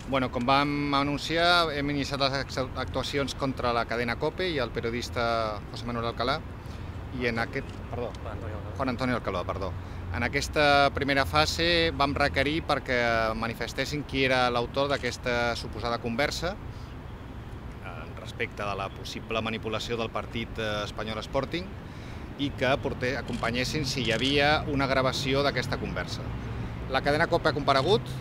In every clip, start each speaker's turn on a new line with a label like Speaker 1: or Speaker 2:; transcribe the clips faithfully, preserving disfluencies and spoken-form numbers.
Speaker 1: Bueno, com vam anunciar, hem iniciat les actuacions contra la cadena COPE i el periodista José Manuel Alcalá i en aquest... Perdó, Juan Antonio Alcalá, perdó. En aquesta primera fase vam requerir perquè manifestessin qui era l'autor d'aquesta suposada conversa respecte de la possible manipulació del partit espanyol Sporting i que acompanyessin si hi havia una gravació d'aquesta conversa. La cadena COPE ha comparegut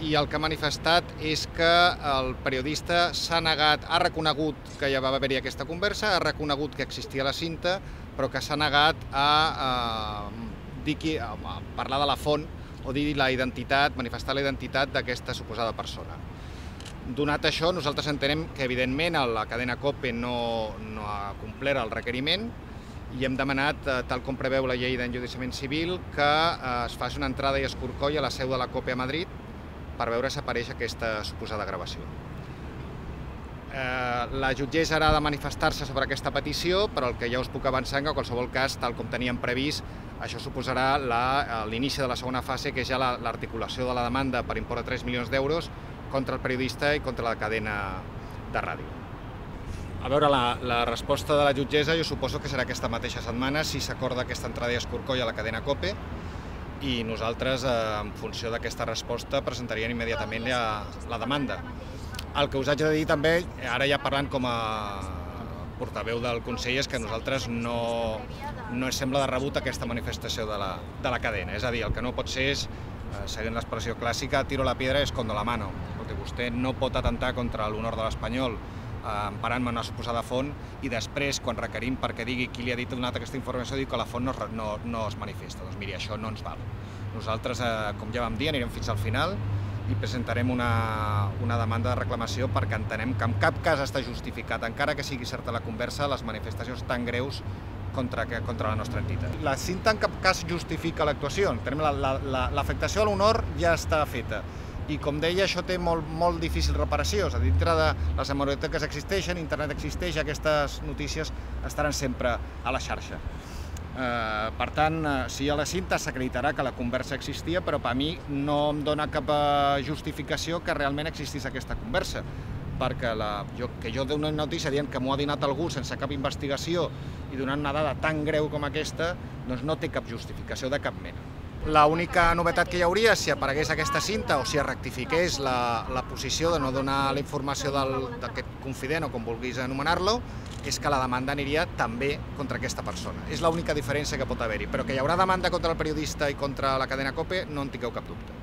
Speaker 1: i el que ha manifestat és que el periodista s'ha negat, ha reconegut que ja va haver-hi aquesta conversa, ha reconegut que existia la cinta, però que s'ha negat a, a, dir qui, a parlar de la font o dir la identitat, manifestar la identitat d'aquesta suposada persona. Donat això, nosaltres entenem que, evidentment, la cadena COPE no, no ha complert el requeriment i hem demanat, tal com preveu la llei d'enjudiciament civil, que es faci una entrada i escorcoll a la seu de la COPE a Madrid per veure si apareix aquesta suposada gravació. La jutgessa ara ha de manifestar-se sobre aquesta petició, però el que ja us puc avançar en qualsevol cas, tal com teníem previst, això suposarà l'inici de la segona fase, que és ja l'articulació de la demanda per import de tres milions d'euros contra el periodista i contra la cadena de ràdio. A veure, la, la resposta de la jutgessa jo suposo que serà aquesta mateixa setmana si s'acorda aquesta entrada i escorcoll a la cadena COPE i nosaltres, en funció d'aquesta resposta, presentaríem immediatament la, la demanda. El que us haig de dir també, ara ja parlant com a portaveu del Consell, és que a nosaltres no, no ens sembla de rebut aquesta manifestació de la, de la cadena. És a dir, el que no pot ser és, seguint l'expressió clàssica, tiro la piedra escondo la mano. Perquè vostè no pot atentar contra l'honor de l'Espanyol emparant-me una suposada font i després, quan requerim perquè digui qui li ha dit donat aquesta informació, diu que la font no, no, no es manifesta. Doncs miri, això no ens val. Nosaltres, com ja vam dir, anirem fins al final i presentarem una, una demanda de reclamació perquè entenem que en cap cas està justificat, encara que sigui certa la conversa, les manifestacions tan greus contra, contra la nostra entitat. La cinta en cap cas justifica l'actuació. L'afectació a l'honor ja està feta. I, com deia, això té molt, molt difícil reparació. A dintre de les hemeroteques existeixen, internet existeix, aquestes notícies estaran sempre a la xarxa. Eh, per tant, si hi ha la cinta, s'acreditarà que la conversa existia, però per mi no em dona cap justificació que realment existís aquesta conversa. Perquè la, jo, que jo dono una notícia dient que m'ho ha donat algú sense cap investigació i donant una dada tan greu com aquesta, doncs no té cap justificació de cap mena. L'única novetat que hi hauria, si aparegués aquesta cinta o si es rectifiqués la, la posició de no donar la informació d'aquest confident o com vulguis anomenar-lo, és que la demanda aniria també contra aquesta persona. És l'única diferència que pot haver-hi, però que hi haurà demanda contra el periodista i contra la cadena COPE no en tingueu cap dubte.